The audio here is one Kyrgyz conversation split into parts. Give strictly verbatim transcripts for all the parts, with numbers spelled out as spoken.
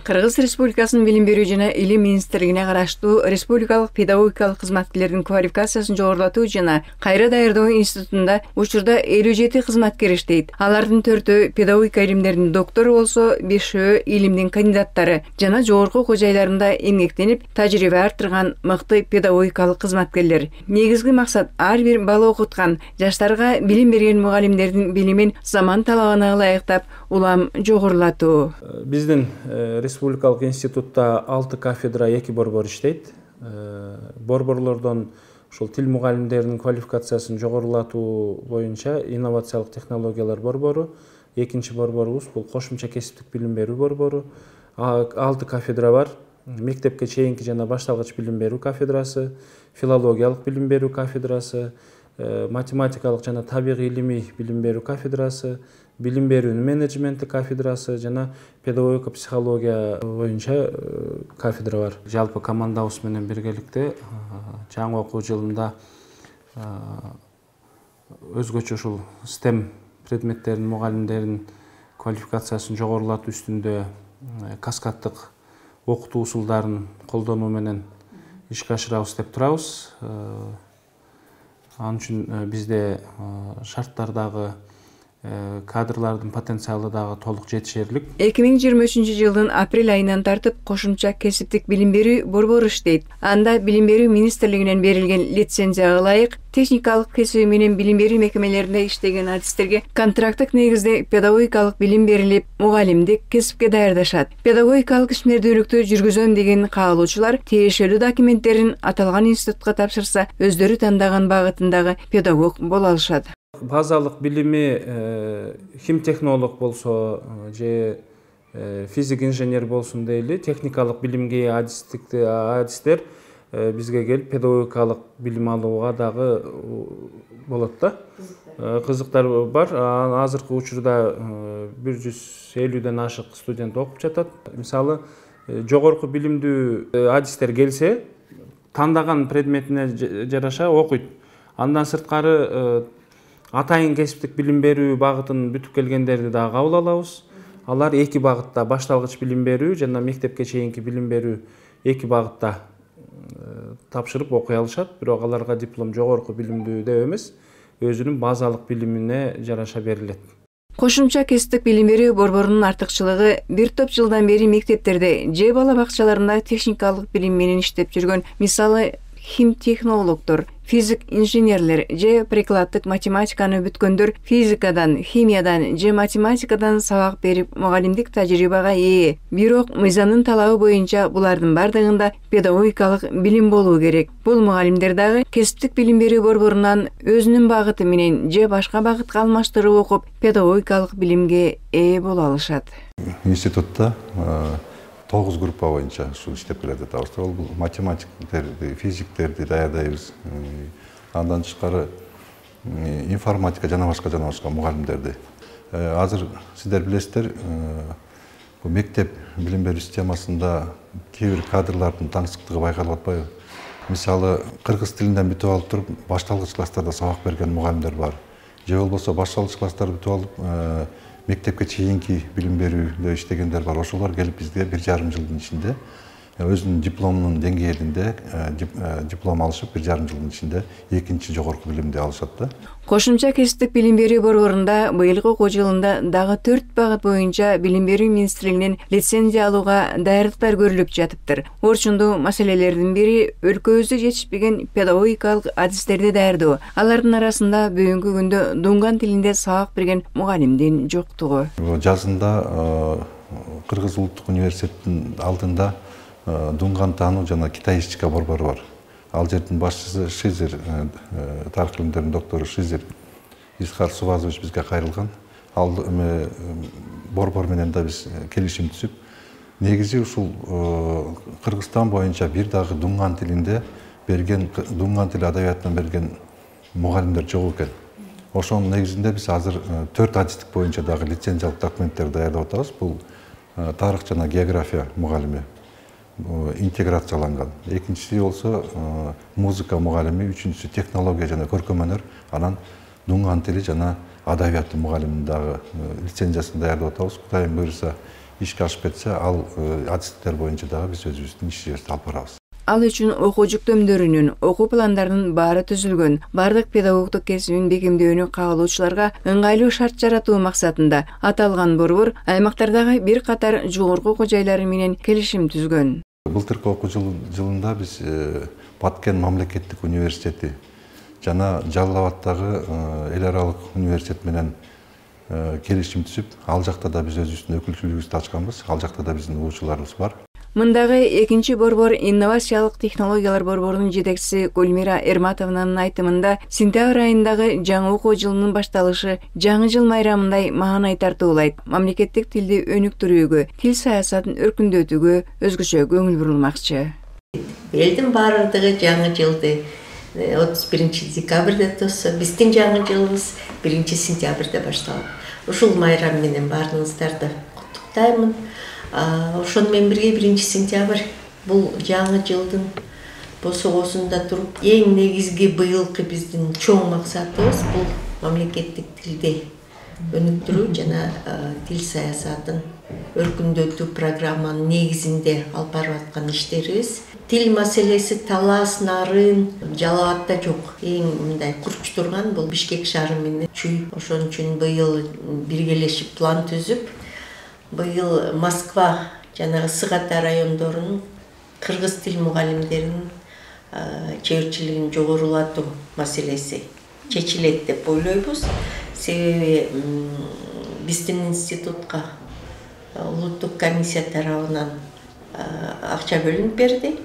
Кыргыз Республикасынын Билим берүү жана Илим министрлигине караштуу республикалык педагогикалык кызматкерлердин квалификациясын жогорулатуу жана кайра даярдоо институтунда учурда элүү жети кызматкер иштейт. Алардын төртөө педагогика илимдеринин доктору болсо, бешөө илимдин кандидаттары жана жогорку окуу жайларында эмгектенип, тажрыйба артырган мыкты педагогикалык кызматкерлер. Негизги максат ар бир бала окуткан жаштарга билим берген мугалимдердин билимин заман талабына ылайыктап, улам жогорулатуу. Биздин республикалык институтта алты кафедра, эки борбор иштейт. Борборлордон ушул тил мугалимдеринин квалификациясын жогорулатуу боюнча инновациялык технологиялар борбору, экинчи борборубуз бул кошумча кесиптик билим берүү борбору. алты кафедра бар. Мектепке чейинки жана башталгыч билим берүү кафедрасы, филологиялык билим берүү кафедрасы, математикалык жана табигый илимий билим берүү кафедрасы, билим берүүнүн менеджменти кафедрасы жана педагогика психология боюнча кафедра бар. Жалпы командабыз менен биргеликте жаңы окуу жылында өзгөчө ушул стем предметтеринин мугалимдеринин квалификациясын жогорулатуу үстүндө каскаддык окутуу усулдарын колдонуу менен ишке ашырабыз деп турабыз. Анын үчүн бизде шарттар дагы, кадрлардын потенциалы дагы толук жетишерлик. эки миң жыйырма үчүнчү жылдын апрель айынан тартып кошумча кесиптик билим берүү борбору иштейт. Анда билим берүү министрлигинен берилген лицензияга ылайык техникалык кесиби менен билим берүү мекемелеринде иштеген адистерге контракттык негизде педагогикалык билим берилип, мугалимдик кесипке даярдашат. Педагогикалык ишмердүүлүктү жүргүзөм деген каалоочулар тиешелүү документтерин аталган институтка тапшырса, өздөрү тандаган багытындагы педагог боло алышат. Базалык билими химтехнолог болсо же физик инженер болсун дейли, техникалык билимге адистер бизге келип педагогикалык билим алууга дагы болот да. Кызыктар бар. Азыркы учурда бир жүз элүүдөн ашык студент окуп жатат. Мисалы, жогорку билимдүү адистер келсе, тандаган предметине жараша окуйт. Андан сырткары атайын кесиптик билим берүү багытын бүтүп келгендерди дагы кабыл алабыз. Алар эки багытта, башталгыч билим берүү жана мектепке чейинки билим берүү эки багытта тапшырып окуй алышат. Бирок аларга диплом жогорку билимдүү деп эмес, өзүнүн базалык билимине жараша берилет. Кошумча кесиптик билим берүү борборунун артыкчылыгы бир топ жылдан бери мектептерде же бала бакчаларында техникалык билим менен иштеп жүргөн, мисалы, химтехнологдор, физик инженерлер же прикладдык математиканы бүткөндөр физикадан, химиядан же математикадан сабак берип мугалимдик тажрыйбага ээ. Бирок мыйзамдын талабы боюнча булардын бардыгында педагогикалык билим болуу керек. Бул мугалимдер дагы кесиптик билим берүү борборунан өзүнүн багыты менен же башка багытка алмаштырып окуп, педагогикалык билимге ээ боло алышат. Институтта тогуз группа боюнча ушул иштеп келатат. Ал бул математиктерди, физиктерди даярдайбыз. Андан тышкары информатика жана башка жана башка мугалимдерди. Азыр сиздер билесиздер, бул мектеп билим берүү системасында кээ бир кадрлардын таңсыктыгы байкалып атпайбы? Мисалы, кыргыз тилинден бүтүп алып туруп, башталгыч класстарда сабак берген мугалимдер бар. Же болбосо башталгыч класстарды бүтүп алып, мектепке чейинки билим берүүдө иштегендер бар. Ошолор келип бизге бир жарым жылдын ичинде өзүнүн дипломунун деңгээлинде диплом алышып, бир жарым жылдын ичинде экинчи жогорку билимди алышат да. Кошумча кесиптик билим берүү борборунда быйылкы окуу жылында дагы төрт багыт боюнча билим берүү министрлигинен лицензия алууга даярдыктар көрүлүп жатыптыр. Орчундуу маселелердин бири өлкөбүздө жетишпеген педагогикалык адистерди даярдоо. Алардын арасында бүгүнкү күндө дунган тилинде сабак берген мугалимдин жоктугу. Жазында Кыргыз улуттук университетинин алдында дунган таануу жана китай ишчика борбору бар. Ал жердин башчысы Шизер, тарых илимдеринин доктору Шизер Исхар Субазович бизге кайрылган. Ал борбор менен да биз келишим түзүп, негизи ушул Кыргызстан боюнча бир дагы дунган тилинде берген, дунган тили адабиятынан берген мугалимдер жок экен. Ошонун негизинде биз азыр төрт адистик боюнча дагы лицензиялык документтерди даярдап атабыз. Бул тарых жана география мугалими интеграцияланган. Экинчиси болсо музыка мугалими, үчүнчүсү технология жана көркөм өнөр, анан дунган тили жана адабияты мугалимин дагы лицензиясын даярдап атабыз. Кудайым буйруса, ишке ашып кетсе, ал адистиктер боюнча дагы биз өзүбүздүн иш жүрүштү алып барабыз. Ал үчүн окуу жүктөмдөрүнүн, окуу пландарынын баары түзүлгөн. Бардык педагогдук кесибин бекемдөөнү каалоочуларга ыңгайлуу шарт жаратуу максатында аталган борбор аймактардагы бир катар жогорку окуу жайлары менен келишим түзгөн. Былтыркы окуу жылында биз Баткен мамлекеттик университети жана Жалал Абаддагы эл аралык университет менен келишим түзүп, ал жакта да биз өзүбүздүн өкүлчүлүгүбүздү ачканбыз. Ал жакта да биздин угуучуларыбыз бар. Мындагы экинчи борбор инновациялык технологиялар борборунун жетекчиси Гүлмира Эрматованын айтымында сентябрь айындагы жаңы окуу жылынын башталышы жаңы жыл майрамындай маанай тартуулайт. Мамлекеттик тилди өнүктүрүүгө, тил саясатын өркүндөтүүгө өзгөчө көңүл бурулмакчы. Элдин баардыгы жаңы жылды отуз биринчи декабрда тосо, биздин жаңы жылыбыз биринчи сентябрда башталат. Ушул майрам менен баарыңыздарды куттуктаймын. Ошону менен бирге биринчи сентябрь бул жаңы жылдын босогосунда туруп, эң негизги быйылкы биздин чоң максатыбыз бул мамлекеттик тилди өнүктүрүү жана тил саясатын өркүндөтүү программанын негизинде алып барып аткан иштерибиз. Тил маселеси талас, нарын Жалал Абадда жок. Эң мындай курч турган бул Бишкек шаары менен Чүй. Ошон үчүн быйыл биргелешип план түзүп, быйыл Москва жана Ысык Ата райондорунун кыргыз тил мугалимдеринин чеберчилигин жогорулатуу маселеси чечилет деп ойлойбуз. Себеби биздин институтка улуттук комиссия тарабынан акча бөлүнүп берди.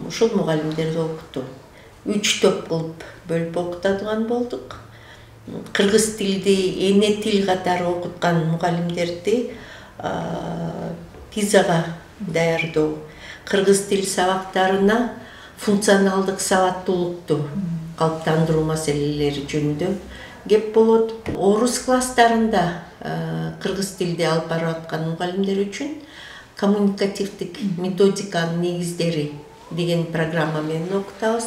Ушул мугалимдерди окутуу. Үч топ кылып бөлүп окутадыган болдук. Кыргыз тилди эне тил катары окуткан мугалимдерди пизага даярдоо, кыргыз тил сабактарына функционалдык сабаттуулукту калыптандыруу маселелери жөнүндө кеп болот. Орус класстарында кыргыз тилди алып барып аткан мугалимдер үчүн коммуникативдик методиканын негиздери деген программа менен окутабыз.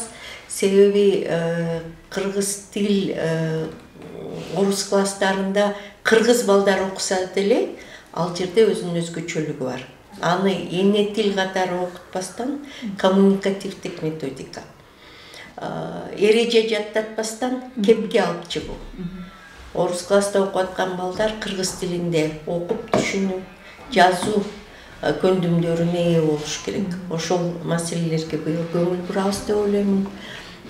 Себеби кыргыз тил орус класстарында кыргыз балдар окуса деле ал жерде өзүнүн өзгөчөлүгү бар. Аны эне тил катары окутпастан коммуникативдик методика, эреже жаттатпастан кепке алып чыгуу. Орус класста окуп аткан балдар кыргыз тилинде окуп түшүнүү, жазуу көндүмдөрүнө ээ болуш керек. Ошол маселелерге быйыл көңүл бурабыз деп ойлоймун.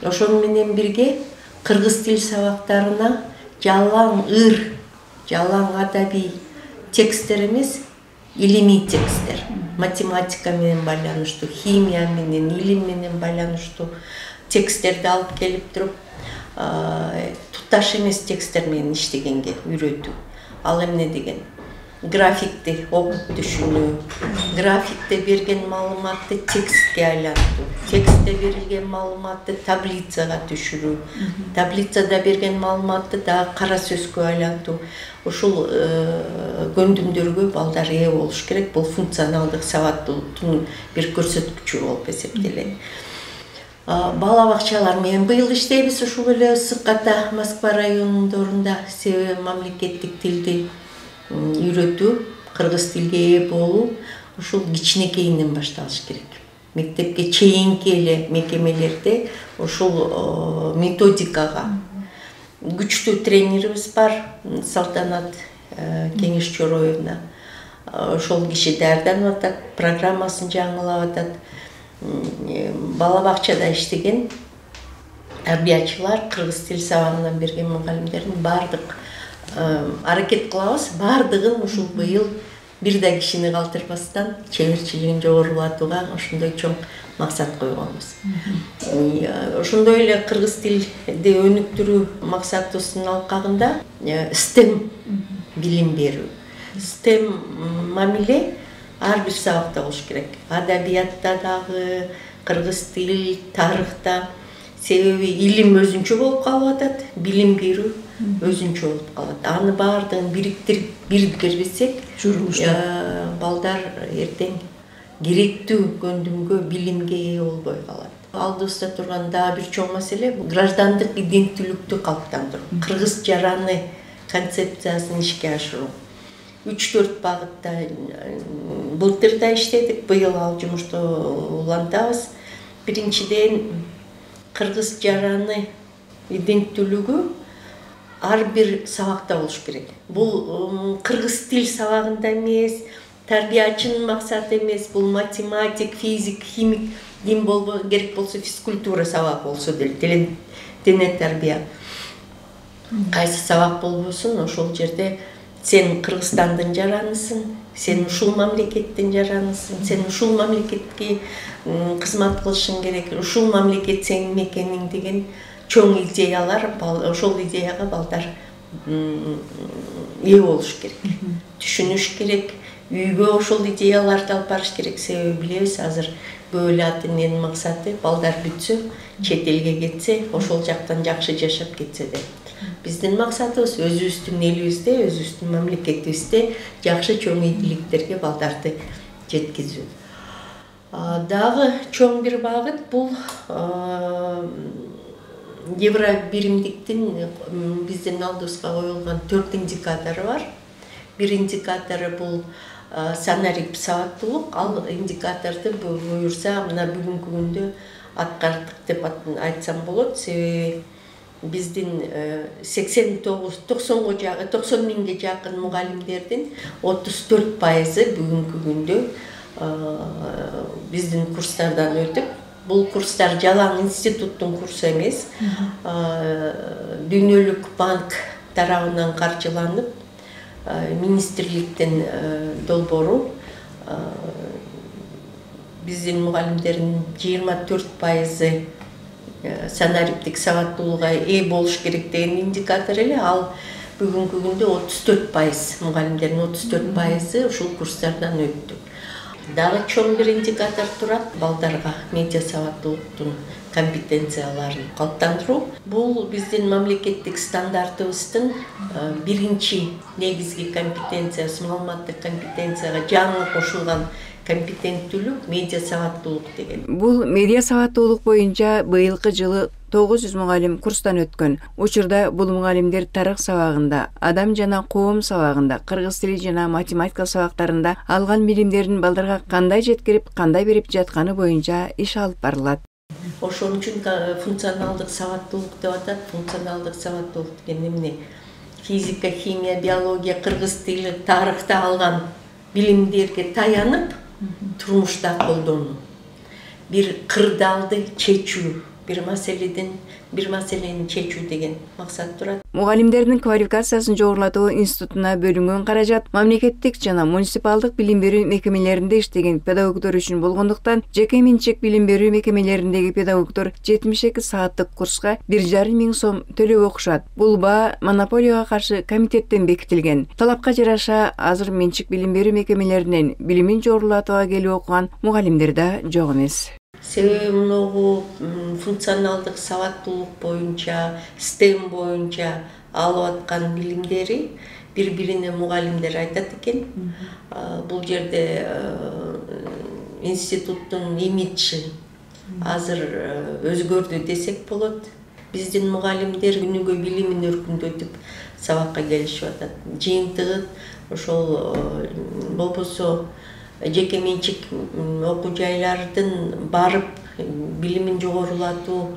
Ошону менен бирге кыргыз тил сабактарына жалаң ыр, жалаң адабий тексттер эмес, илимий тексттер, математика менен байланыштуу, химия менен, илим менен байланыштуу тексттерди алып келип туруп, тутташ эмес тексттер менен иштегенге үйрөтүү. Ал эмне деген? Графикти окуп түшүнүү, графикте берген маалыматты текстке айлантуу, текстте берилген маалыматты таблицага түшүрүү, таблицада берген маалыматты дагы кара сөзгө айлантуу. Ушул көндүмдөргө балдар ээ болуш керек. Бул функционалдык сабаттуулуктун бир көрсөткүчү болуп эсептелет. Бала бакчалар менен быйыл иштейбиз ушул эле Ысык Ата Москва райондорунда. Себеби мамлекеттик тилди үйрөтүү, кыргыз тилге ээ болуу ушул кичинекейинен башталыш керек. Мектепке чейинки эле мекемелерде ушул методикага күчтүү тренерибиз бар, Салтанат Кеңеш Чороевна. Ошол киши даярданып атат, программасын жаңылап атат. Бала бакчада иштеген тарбиячылар, кыргыз тил сабагынан берген мугалимдердин бардык аракет кылабыз, бардыгын ушул быйыл бир да кишини калтырбастан чеберчилигин жогорулатууга ошондой чоң максат койгонбуз. Ошондой эле кыргыз тилди өнүктүрүү максатыбыздын алкагында стем билим берүү. Стем мамиле ар бир сабакта болуш керек. Адабиятта дагы, кыргыз тил, тарыхта. Себеби илим өзүнчө болуп калып атат, билим берүү өзүнчө болуп калат. Аны баардыгын бириктирип бирдикербесек, балдар эртең керектүү көндүмгө, билимге ээ болбой калат. Алдыбызда турган дагы бир чоң маселе бул граждандык иденттүүлүктү калыптандыруу. Кыргыз жараны концепциясын ишке ашыруу. үч төрт багытта былтыр да иштедик, быйыл ал жумушту улантабыз. Биринчиден, кыргыз жараны иденттүүлүгү ар бир сабакта болуш керек. Бул кыргыз тил сабагында эмес, тарбиячынын максаты эмес, бул математик, физик, химик, дин болбо керек болсо физкультура сабак болсо деле, дене тарбия. Кайсы сабак болбосун, ошол жерде сен Кыргызстандын жаранысың, сен ушул мамлекеттин жаранысың, сен ушул мамлекетке кызмат кылышың керек, ушул мамлекет сенин мекениң деген чоң идеялар, ошол идеяга балдар ээ болуш керек, түшүнүш керек, үйгө ошол идеяларды алып барыш керек. Себеби билебиз, азыр көп эле ата эненин максаты балдар бүтсө, чет элге кетсе, ошол жактан жакшы жашап кетсе деп. Биздин максатыбыз өзүбүздүн элибизде, өзүбүздүн мамлекетибизде жакшы чоң ийгиликтерге балдарды жеткизүү. Дагы чоң бир багыт бул евро биримдиктин биздин алдыбызга коюлган төрт индикатору бар. Бир индикатору бул санарип сабаттуулук. Ал индикаторду буюрса мына бүгүнкү күндө аткардык деп айтсам болот. Себеби биздин сексен тогуз токсонго жакын токсон миңге жакын мугалимдердин отуз төрт пайызы бүгүнкү күндө биздин курстардан өтүп, бул курстар жалаң институттун курсу эмес, Дүйнөлүк банк тарабынан каржыланып, министрликтин долбоору биздин мугалимдердин жыйырма төрт пайызы санариптик сабаттуулукка ээ болуш керек деген индикатор эле. Ал бүгүнкү күндө отуз төрт пайыз мугалимдердин отуз төрт пайызы ушул курстардан өттү. Дагы чоң бир индикатор турат балдарга медиа сабаттуулуктун компетенцияларын калыптандыруу. Бул биздин мамлекеттик стандартыбыздын биринчи негизги компетенциясы, маалыматтык компетенцияга жаңы кошулган компетенттүүлүк медиа сабаттуулук деген. Бул медиа сабаттуулук боюнча быйылкы жылы тогуз жүз мугалим курстан өткөн. Учурда бул мугалимдер тарых сабагында, адам жана коом сабагында, кыргыз тили жана математика сабактарында алган билимдерин балдарга кандай жеткирип, кандай берип жатканы боюнча иш алып барылат. Ошон үчүн функционалдык сабаттуулук деп атат. Функционалдык сабаттуулук деген эмне? Физика, химия, биология, кыргыз тили, тарыхта алган билимдерге таянып, турмушта колдонуу. Бир кырдаалды чечүү, бир маселеден бир маселени чечүү деген максат турат. Мугалимдердин квалификациясын жогорулатуу институтуна бөлүнгөн каражат мамлекеттик жана муниципалдык билим берүү мекемелеринде иштеген педагогдор үчүн болгондуктан, жеке менчик билим берүү мекемелериндеги педагогдор жетимиш эки сааттык курска бир жарым миң сом төлөп окушат. Бул баа монополияга каршы комитеттен бекитилген. Талапка жараша азыр менчик билим берүү мекемелеринен билимин жогорулатууга келип окуган мугалимдер да жок эмес. Себеби мыногу функционалдык сабаттуулук боюнча, стем боюнча алып аткан билимдери бири-бирине мугалимдер айтат экен. Бул жерде институттун имиджи азыр өзгөрдү десек болот. Биздин мугалимдер күнүгө билимин өркүндөтүп сабакка келишип атат. Жыйынтыгы ошол болбосо жеке менчик окуу жайлардын барып билимин жогорулатуу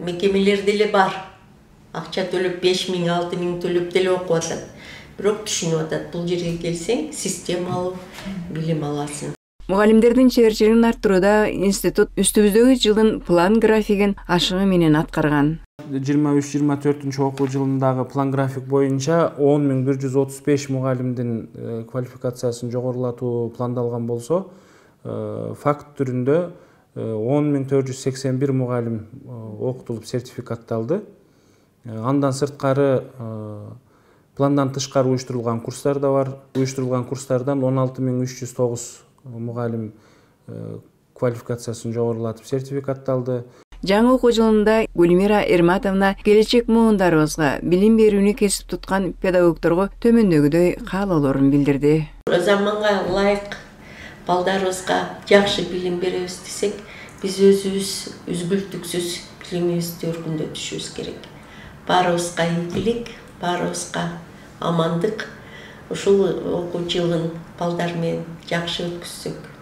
мекемелер деле бар. Акча төлөп беш миң, алты миң төлөп деле окуп атат. Бирок түшүнүп атат, бул жерге келсең системалуу билим аласың. Мугалимдердин чеберчилигин арттырууда институт үстүбүздөгү жылдын план графигин ашыгы менен аткарган. жыйырма үч жыйырма төртүнчү окуу жылындагы план график боюнча он миң бир жүз отуз беш мугалимдин квалификациясын жогорулатуу пландалган болсо, факт түрүндө он миң төрт жүз сексен бир мугалим окутулуп сертификатталды. Андан сырткары пландан тышкары уюштурулган курстар да бар. Уюштурулган курстардан он алты миң үч жүз тогуз мугалим квалификациясын жогорулатып сертификатталды. Жаңы окуу жылында Гүлмира Эрматовна келечек муундарыбызга билим берүүнү кесип туткан педагогдорго төмөндөгүдөй каалоолорун билдирди. Заманга ылайык балдарыбызга жакшы билим беребиз десек, биз өзүбүз үзгүлтүксүз билимибизди өркүндөтүшүбүз керек. Баарыбызга ийгилик, баарыбызга амандык, ушул окуу жылын балдар менен жакшы өткүзсөк.